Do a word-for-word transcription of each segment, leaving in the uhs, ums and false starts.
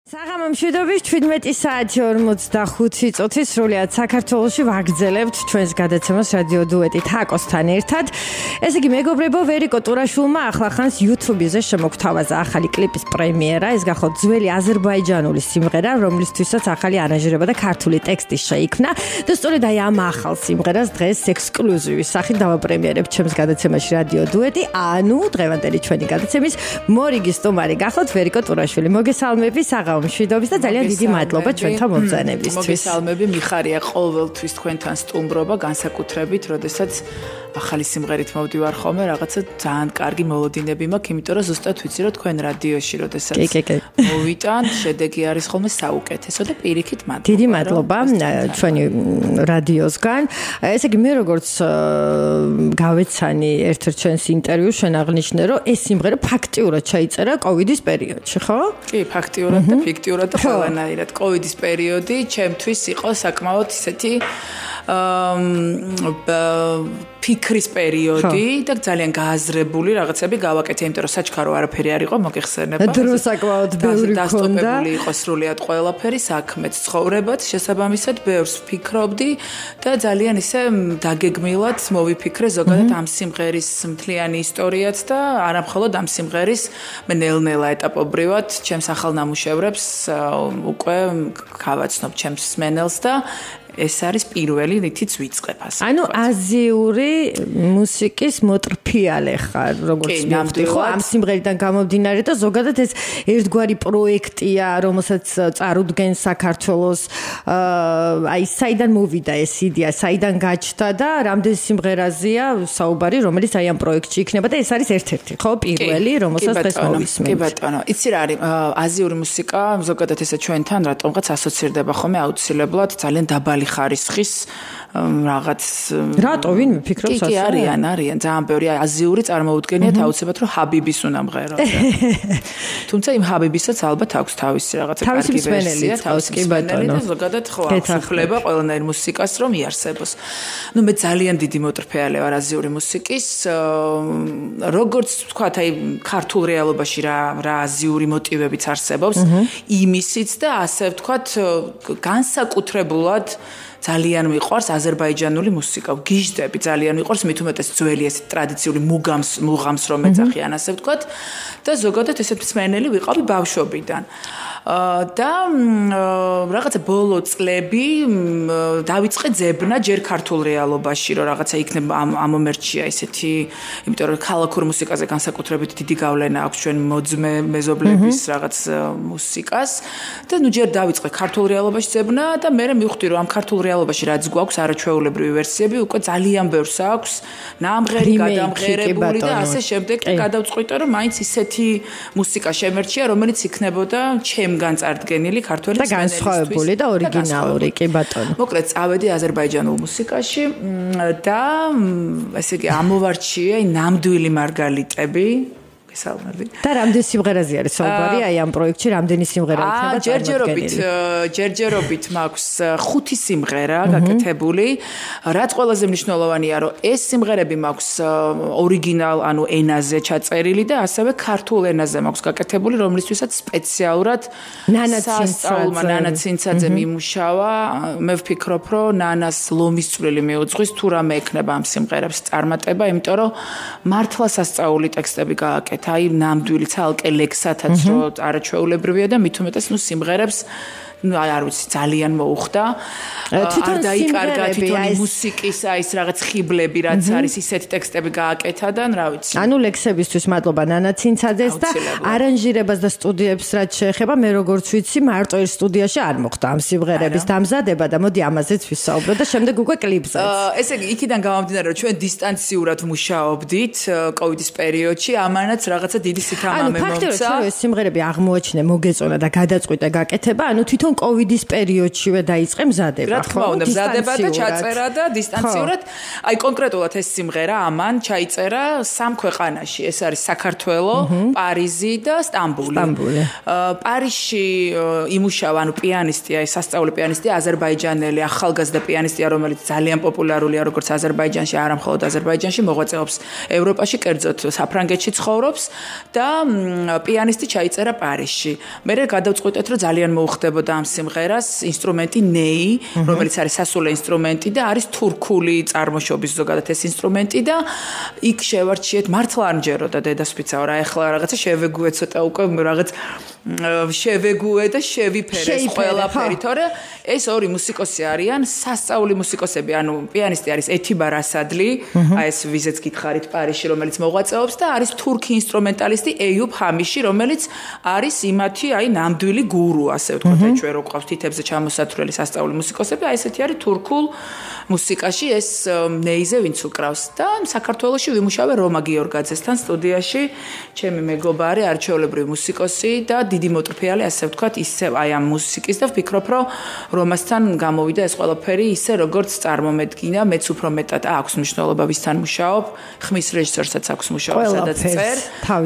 საღამო მშვიდობის შვიდმეტი საათი ორმოცდახუთი წუთი სრულიად საქართველოში ვაგრძელებთ ჩვენს გადაცემას რადიო დუეტი თაკოსთან ერთად. ესე იგი მეგობრებო, ვერიკო ტურაშვილმა ახლახანს YouTube-ზე შემოგთავაზა ახალი კლიპის პრემიერა. ეს გახოთ ძველი აზერბაიჯანული სიმღერა, რომლისთვისაც ახალი არანჟირება და ქართული ტექსტი შეიქმნა. და სწორედ აი ამ ახალ სიმღერას დღეს ექსკლუზივის სახით დავაპრემიერებთ ჩემს გადაცემაში რადიო დუეტი. ანუ დღევანდელი ჩვენი გადაცემის მორიგი სტუმარი გახოთ ვერიკო ტურაშვილი. მოგესალმები საღამო მშვიდობის და ძალიან დიდი მადლობა ჩვენთან მომბრძანებისთვის. მოგესალმები, მიხარია ყოველთვის თქვენთან სტუმრობა, განსაკუთრებით, როდესაც ახალი სიმღერით მოვდივარ ხოლმე, რაღაცა ძალიან კარგი მოლოდინები მაქვს, იმიტომ რომ ზუსტად ვიცი რომ თქვენ რადიოში, როდესაც მოვიტან, შედეგი არის ხოლმე საუკეთესო და პირიქით მადლობა. დიდი მადლობა ჩვენი რადიოსგან. ესე იგი მე როგორც გავეცანი ერთ-ერთ ჩვენს ინტერვიუს შენ აღნიშნე, რომ ეს სიმღერა ფაქტიურად ჩაიწერა კოვიდის პერიოდში, ხო? კი, ფაქტიურად და ფიქტიურად და ყველანაირად. კოვიდის პერიოდი ჩემთვის იყო საკმაოდ ისეთი ფიქრის პერიოდი და ძალიან გააზრებული რაღაცები გავაკეთე, იმიტომ რომ საჩქარო არაფერი არ იყო, მოგეხსენება. დრო საკმაოდ ბევრი ქონდა. დასტოპებული იყო სრულიად ყველაფერი, საქმეც, ცხოვრებაც, შესაბამისად ბევრს ვფიქრობდი და ძალიან ისე დაგეგმილად მოვიფიქრე ზოგადად ამ სიმღერის მთლიანი ისტორიაც და არამხოლოდ ამ სიმღერის მე ნელ-ნელა ეტაპობრივად ჩემს ახალ ნამუშევრებს უკვე გავაცნობ ჩემს მსმენელს და ეს არის პირველი რითიც ვიწყებ ასე. ანუ აზიური მუსიკის მოტრფიალე ხარ, როგორც ნავთი ხო ამ სიმღერიდან გამომდინარე და ზოგადად ეს ერთგვარი პროექტია, რომელსაც წარუდგენ საქართველოს, აი საიდან მოვიდა ეს იდეა, საიდან გაჩნდა და რამდენ სიმღერაზეა საუბარი, რომელიც აი ამ პროექტში იქნება და ეს არის ერთ-ერთი, ხო, პირველი, რომელსაც დღეს მოვისმენთ. კი ბატონო, იცი რა არის აზიური მუსიკა, ზოგადად ესე ჩვენთან რატომღაც ასოცირდება ხოლმე აუცილებლად ძალიან დაბალი ხარისხის რაღაც რატო ვინ ფიქრობს ასე? კი, არიან, არიან, ძალიან ბევრი აზიური წარმოუდგენიათ აუცილებლად რომ ჰაბიბის უნდა მღეროს. თუმცა იმ ჰაბიბისაც ალბათ აქვს თავისი რაღაცა კარგი ვერსია, თავისი კი ბატონო. და ზოგადად ხო აღსუფლება ყველანაირ მუსიკას რომ იარსებოს. ნუ მე ძალიან დიდი მოტრფეალე ვარ აზიური მუსიკის. როგორც ვთქვათ, აი ქართულ რეალობაში რა რა აზიური მოტივებიც არსებობს, იმისიც და ასე ვთქვათ განსაკუთრებულად ძალიან მიყვარს აზერბაიჯანული მუსიკა. გიჟდები ძალიან მიყვარს, მით უმეტეს ძველი ეს ტრადიციული მუგამს მუღამს რომ ეძახიან ასე ვთქვათ და ზოგადად ესეთ მსმენელი ვიყავი ბავშვობიდან. და რაღაცა ბოლო წლები დავიწყე ძებნა ჯერ ქართულ რეალობაში, რომ რაღაცა იქნება ამ ამ მომენტშია ესეთი, იმიტომ რომ ქალაქურ მუსიკაზე განსაკუთრებით დიდი გავლენა აქვს ჩვენ მოძმე მეზობლების რაღაც მუსიკას და ნუ ჯერ დავიწყე ქართულ რეალობაში ძებნა და მე მივხვდი რომ ამ ქართულ რეალობაში რაც გვაქვს არაჩვეულებრივი ვერსიები უკვე ძალიან ბევრს აქვს, ნამღერი, გადამღერებული და ასე შემდეგ და გადავწყვიტე რომ მაინც ისეთი მუსიკა შემერჩია, რომელიც იქნებოდა ჩემგან წარდგენილი ქართველი და განსხვავებული და ორიგინალური, კი ბატონო. მოკლედ წავედი აზერბაიჯანულ მუსიკაში და ესე იგი ამოვარჩიე ნამდვილი მარგალიტები გესალმები. და რამდენი სიმღერაზე არის საუბარი? აი ამ პროექტში რამდენი სიმღერა იქნება ჯერჯერობით ჯერჯერობით მაქვს ხუთი სიმღერა გაკეთებული. რაც ყველაზე მნიშვნელოვანია, რომ ეს სიმღერები მაქვს ორიგინალ, ანუ ენაზე ჩაწერილი და ასევე ქართულ ენაზე მაქვს გაკეთებული, რომლისთვისაც სპეციალურად სასწაულმა ნანა ცინცაძე მიმუშავა. მე ვფიქრობ, რომ ნანას ლომის წვლილი მიუძღვის თუ რამე ექნება ამ სიმღერებს წარმატება, იმიტომ რომ მართლა სასწაული ტექსტები გააკეთა. აი ნამდვილი ცალკე ლექსათაც რო არაჩვეულებრივია და მით უმეტეს ნუ სიმღერებს ну არ ვიცი ძალიან მოუხდა თვითონ დაიკარგა თვითონ მუსიკის აი ეს რაღაც ხიბლები რაც არის ისეთი ტექსტები გააკეთა და რა ვიცი ანუ ლექსებისთვის მადლობა ნანა ცინცაძეს და არანჟირებას და სტუდიებს რაც შეეხება მე როგორც ვიცი მარტო ერთ სტუდიაში არ მოხდა ამ სიმღერების დამზადება და მოდი ამაზეც ვისაუბროთ და შემდეგ უკვე კლიპზეც ესე იგი იქიდან გამომდინარე რომ ჩვენ დისტანციურად მუშაობდით კოვიდის პერიოდში ამანაც რაღაცა დიდი სითამამე მომცა ანუ ფაქტობრივად ეს სიმღერები აღმოაჩინე მოგეწონა და გადაწყვიტე გაკეთება ანუ თვითონ თვითონ კოვიდის პერიოდშივე დაიწყე მზადება, რა თქმა უნდა, მზადება და ჩაწერა და დისტანციურად. აი კონკრეტულად ეს სიმღერა ამან ჩაიწერა სამ ქვეყანაში. ეს არის საქართველო, პარიზი და სტამბული. სტამბული. პარიზში იმუშავა, ანუ პიანისტია, სასწავლო პიანისტია, აზერბაიჯანელი ახალგაზრდა პიანისტია, რომელიც ძალიან პოპულარულია როგორც აზერბაიჯანში, არა მხოლოდ აზერბაიჯანში, მოღვაწეობს ევროპაში, კერძოდ საფრანგეთში ცხოვრობს და პიანისტი ჩაიწერა პარიზში. მე გადავწყვიტეთ, რომ ძალიან მოუხდებოდა ამ სიმღერას ინსტრუმენტი ნეი, რომელიც არის სასულე ინსტრუმენტი და არის თურქული წარმოშობის ზოგადად ეს ინსტრუმენტი და იქ შევარჩიეთ მართლა არ მჯეროდა დედასპიცაო რა ეხლა რაღაცა შევეგუე ცოტა უკვე რაღაც შევეგუე და შევიფერე ყველაფერი, თორე ეს ორი მუსიკოსი არიან სასწაული მუსიკოსები, ანუ პიანისტი არის ეთიბარ ასადლი, აი ეს ვიზეც გითხარით პარიზში, რომელიც მოღვაწეობს და არის თურქი ინსტრუმენტალისტი ეიუბ ჰამიში, რომელიც არის იმათი აი ნამდვილი გურუ, ასე ვთქვათ, აი ჩვენ რო გვყავს თითებზე ჩამოსათვლელი სასწაული მუსიკოსები, აი ესეთი არის თურქულ მუსიკაში ეს ნეიზე ვინც უკრავს და საქართველოში ვიმუშავე რომა გიორგაძესთან სტუდიაში, ჩემი მეგობარი, არჩეულებრივი მუსიკოსი და დიდი მოტრფიალი, ასე ვთქვათ, ისევ აი ამ მუსიკის და ვფიქრობ, რომ რომასთან გამოვიდა ეს ყველაფერი ისე როგორც წარმომედგინა, მეც უფრო მეტად აქვს მნიშვნელობა ვისთან მუშაობ, ხმის რეჟისორსაც აქვს მუშაობა, სადაც წერ,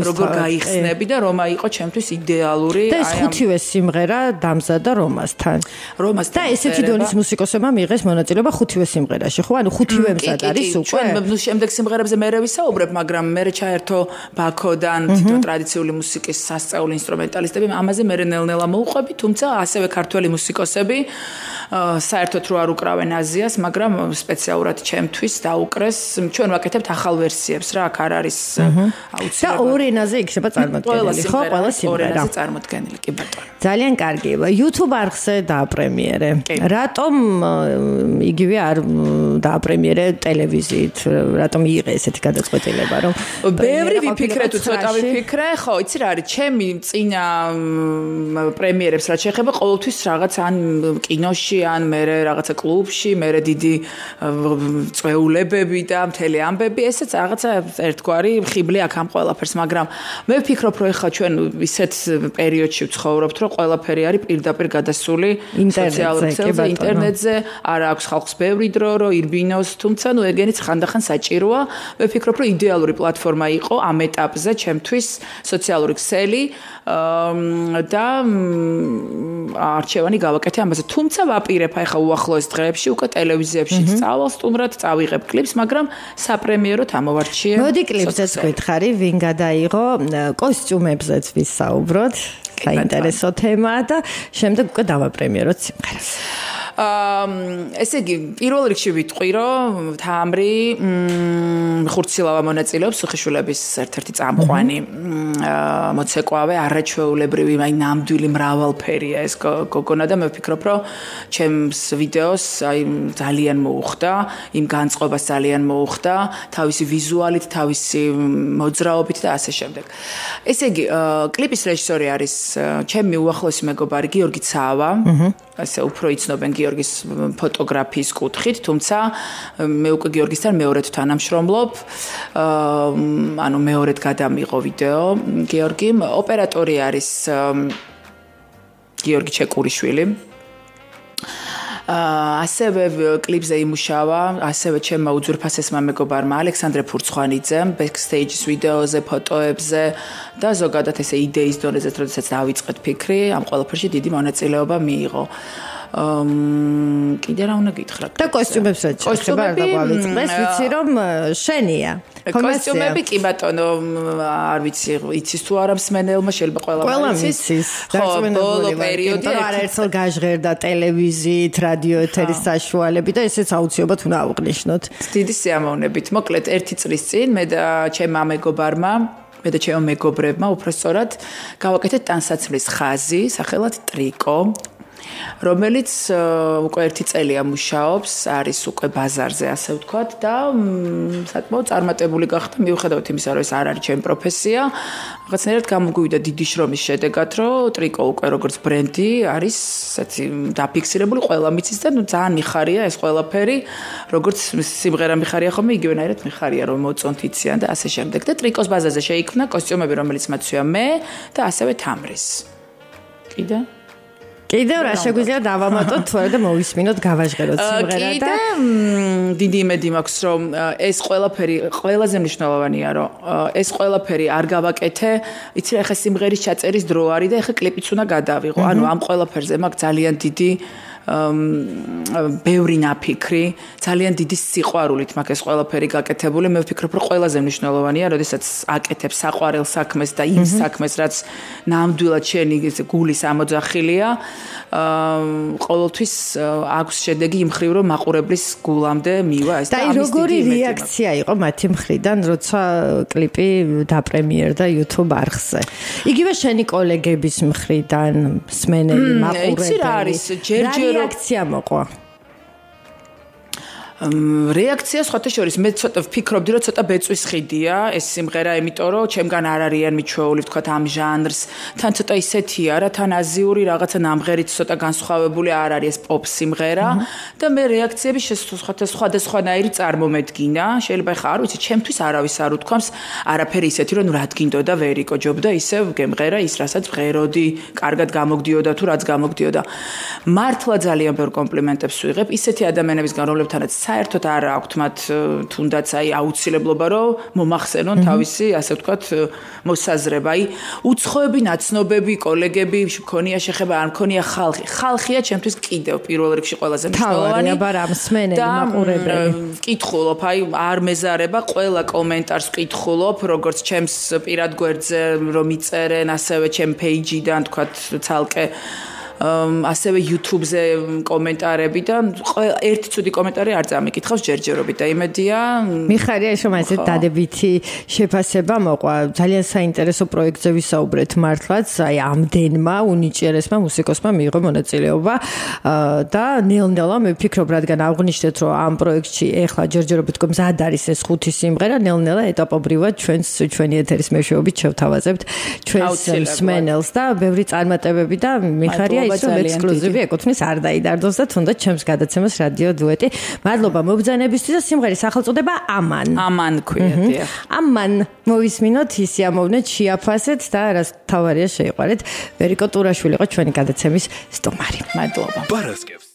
როგორ გაიხსნები და რომა იყო ჩემთვის იდეალური აი ამ და ეს ხუთივე სიმღერა დამზადა რომასთან. რომასთან. და ესეთი დონის მუსიკოსებმა მიიღეს მონაწილეობა ხუთივე სიმღერაში, ხო? ანუ ხუთივე მზად არის უკვე. ჩვენ შემდეგ სიმღერებზე მე ვისაუბრებ, მაგრამ მე ჩაერთო ბაქოდან თითო ტრადიციული მუსიკის სასწაული ინსტრუმენტალისტები, ამაზე მე ნელ-ნელა მოუყვები, თუმცა ასევე ქართველი მუსიკოსები საერთოდ რო არ უკრავენ აზიას, მაგრამ სპეციალურად ჩემთვის დაუკრეს. ჩვენ ვაკეთებთ ახალ ვერსიებს რა, აქ არ არის აუცილებლად. და ორ ენაზე იქნება წარმოდგენილი, ხო? ყველა სიმღერა. ორ ენაზე წარმოდგენილი, კი ბატონო. ძალიან კარგი. YouTube არხზე დააპრემიერე. რატომ იგივე არ დააპრემიერე ტელევიზიით? რატომ იიღე ესეთი გადაწყვეტილება, რომ ბევრი ვიფიქრე თუ ცოტა ვიფიქრე, ხო, იცი რა არის, ჩემი წინა პრემიერებს რაც შეეხება, ყოველთვის რაღაც ან კინოში, ან მე რაღაცა კლუბში, მე დიდი წვეულებები და მთელი ამბები, ესეც რაღაცა ერთგვარი ხიბლი აქ ამ ყველაფერს, მაგრამ მე ვფიქრობ, რომ ეხლა ჩვენ ისეთ პერიოდში ვცხოვრობთ, რომ ყველაფერი არის პირდაპირ გადასული სოციალურ ქსელზე, ინტერნეტზე, არა აქვს ხალხს ბევრი დრო, რომ ირბინოს, თუმცა ნუ ეგენიც ხანდახან საჭიროა. მე ვფიქრობ, რომ იდეალური პლატფორმა იყო ამ ეტაპზე ჩემთვის სოციალური ქსელი და არჩევანი გავაკეთე ამაზე. თუმცა ვაპირებ აი ხა უახლოეს დღეებში უკვე ტელევიზიებში წავალ სტუმრად, წავიღებ კლიპს, მაგრამ საპრემიეროდ ამოვარჩიე. მოდი კლიპზეც გითხარი, ვინ გადაიღო, კოსტიუმებზეც ვისაუბროთ. საინტერესო თემაა და შემდეგ უკვე დავაპრემიეროთ სიმღერას. აა ესე იგი პირველ რიგში ვიტყვი რომ თამრი ხურცილავა მონაწილეობს სუხიშვილების ერთ-ერთი წამყვანი მოცეკვავე არაჩვეულებრივი აი ნამდვილი მრავალფერია ეს გოგონა და მე ვფიქრობ რომ ჩემს ვიდეოს აი ძალიან მოუხდა იმ განწყობას ძალიან მოუხდა თავისი ვიზუალით თავისი მოძრაობით და ასე შემდეგ ესე იგი კლიპის რეჟისორი არის ჩემი უახლოესი მეგობარი გიორგი ცავა ასე უფრო იცნობენ გიორგის ფოტოგრაფიის კუთხით, თუმცა მე უკვე გიორგისთან მეორედ თანამშრომლობ. ანუ მეორედ გადამიღო ვიდეო გიორგიმ. ოპერატორი არის გიორგი ჩეკურიშვილი. ასევე კლიპზე იმუშავა, ასევე ჩემმა უძვირფასესმა მეგობარმა ალექსანდრე ფურცხვანიძემ ბექსტეიჯის ვიდეოზე, ფოტოებზე და ზოგადად ესე იდეის დონეზეც, როდესაც დავიწყეთ ფიქრი, ამ ყველაფერში დიდი მონაწილეობა მიიღო. Um, კიდე რა უნდა გითხრა? და კოსტიუმებსაც შეიძლება არ დაგვავიწყდეს, ვიცი რომ შენია. კოსტიუმები კი ბატონო, არ ვიცი, იცის თუ არა მსმენელმა შეიძლება ყველა ვიცის. ბოლო პერიოდი არაერთხელ გაჟღერდა ტელევიზიით, რადიო ეთერის საშუალებით და ესეც აუცილებლად უნდა აღვნიშნოთ. დიდი სიამოვნებით. მოკლედ ერთი წლის წინ მე და ჩემმა მეგობარმა მე და ჩემო მეგობრებმა უпростоრად გავაკეთეთ ტანსაცმლის ხაზი, სახელად ტრიკო. რომელიც უკვე ერთი წელია მუშაობს, არის უკვე ბაზარზე, ასე ვთქვათ და საკმაოდ წარმატებული გახდა, მიუხედავად იმისა, რომ ეს არ არის ჩემი პროფესია. რაღაცნაირად გამოგვივიდა დიდი შრომის შედეგად, რომ ტრიკო უკვე როგორც ბრენდი არის, ესეთი დაფიქსირებული, ყველა მიცის და ნუ ძალიან მიხარია ეს ყველაფერი, როგორც სიმღერა მიხარია ხოლმე, იგივენაირად მიხარია, რომ მოწონთ იციან და ასე შემდეგ. და ტრიკოს ბაზაზე შეიქმნა კოსტიუმები, რომელიც მაცვია მე და ასევე თამრის. კიდე კიდევ რა შეგვიძლია დავამატოთ თუ არა და მოვისმინოთ გავაჟღეროთ სიმღერა და კიდე დიდი იმედი მაქვს რომ ეს ყველაფერი ყველაზე მნიშვნელოვანია რომ ეს ყველაფერი არ გავაკეთე იცი რა ხა სიმღერის ჩაწერის დრო არის და ხა კლიპიც უნდა გადავიღო ანუ ამ ყველაფერზე მაქვს ძალიან დიდი ბევრი ნაფიქრი, ძალიან დიდი სიყვარულით მაქვს ეს ყველაფერი გაკეთებული. მე ვფიქრობ, რომ ყველაზე მნიშვნელოვანია, როდესაც აკეთებ საყვარელ საქმეს და იმ საქმეს, რაც ნამდვილად შენი გულის ამოძახილია, ყოველთვის აქვს შედეგი იმ ხრივ, რომ მაყურებლის გულამდე მივა ეს და აი როგორი რეაქცია იყო მათი მხრიდან, როცა კლიპი დაპრემიერდა YouTube არხზე. იგივე შენი კოლეგების მხრიდან, მსმენელი, მაყურებელი. იცი რა არის, ჯერჯერ რეაქცია მოყვა. რეაქცია სხვათა შორის მე ცოტა ვფიქრობდი რომ ცოტა ბეწვის ხიდია ეს სიმღერა იმიტომ რომ ჩემგან არ არიან მიჩვეული ვთქვათ ამ ჟანრს თან ცოტა ისეთია რა თან აზიური რაღაცა ნამღერით ცოტა განსხვავებული არ არის ეს პოპ სიმღერა და მე რეაქციები სხვათა სხვადასხვანაირი წარმომედგინა შეიძლება ხა არ ვიცი ჩემთვის არავის არ უთქვამს არაფერი ისეთი რომ რა თქინდოდა ვერ იკოჯობდა ისევ გემღერა ის რასაც ღეროდი კარგად გამოგდიოდა თუ რაც გამოგდიოდა მართლა ძალიან ბევრ კომპლიმენტებს ვიღებ ისეთი ადამიანებისგან რომლებთანაც საერთოდ არ აქვთ მათ თუნდაც აი აუცილებლობა რომ მომახსენონ თავისი ასე ვთქვათ მოსაზრება აი უცხოები ნაცნობები კოლეგები მქონია შეხება არ მქონია ხალხი ხალხია ჩემთვის კიდევ პირველ რიგში ყველაზე მნიშვნელოვანი აბა რა მსმენელი მაყურებელი ვკითხულობ აი არ მეზარება ყველა კომენტარს ვკითხულობ როგორც ჩემს პირად გვერდზე რომ იწერენ ასევე ჩემ პეიჯიდან ვთქვათ ცალკე ასევე YouTube-ზე კომენტარები და ერთი ცუდი კომენტარი არ წამიკითხავს ჯერჯერობით და იმედია მიხარია რომ ასეთ დადებითი შეფასება მოყვა ძალიან საინტერესო პროექტზე ვისაუბრეთ მართლაც აი ამდენმა უნიჭიერესმა მუსიკოსმა მიიღო მონაწილეობა და ნელ-ნელა მე ვფიქრობ რადგან აღნიშნეთ რომ ამ პროექტში ეხლა ჯერჯერობით მზად არის ეს ხუთი სიმღერა ნელ-ნელა ეტაპობრივად ჩვენს ჩვენი ეთერის მეშვეობით შევთავაზებთ ჩვენს მსმენელს და ბევრი წარმატებები და მიხარია ისო ექსკლუზივი ეკუთვნის არ დაიდარდოს და თუნდაც ჩემს გადაცემას რადიო დუეტი. მადლობა მობრძანებისთვის და სიმღერის სახელწოდება ამან. ამან ქვია. ამან მოვისმინოთ, ისიამოვნეთ, შეაფასეთ და რაც თავარია შეიყვარეთ. ვერიკო ტურაშვილი იყო ჩვენი გადაცემის სტუმარი. მადლობა. Paraskevs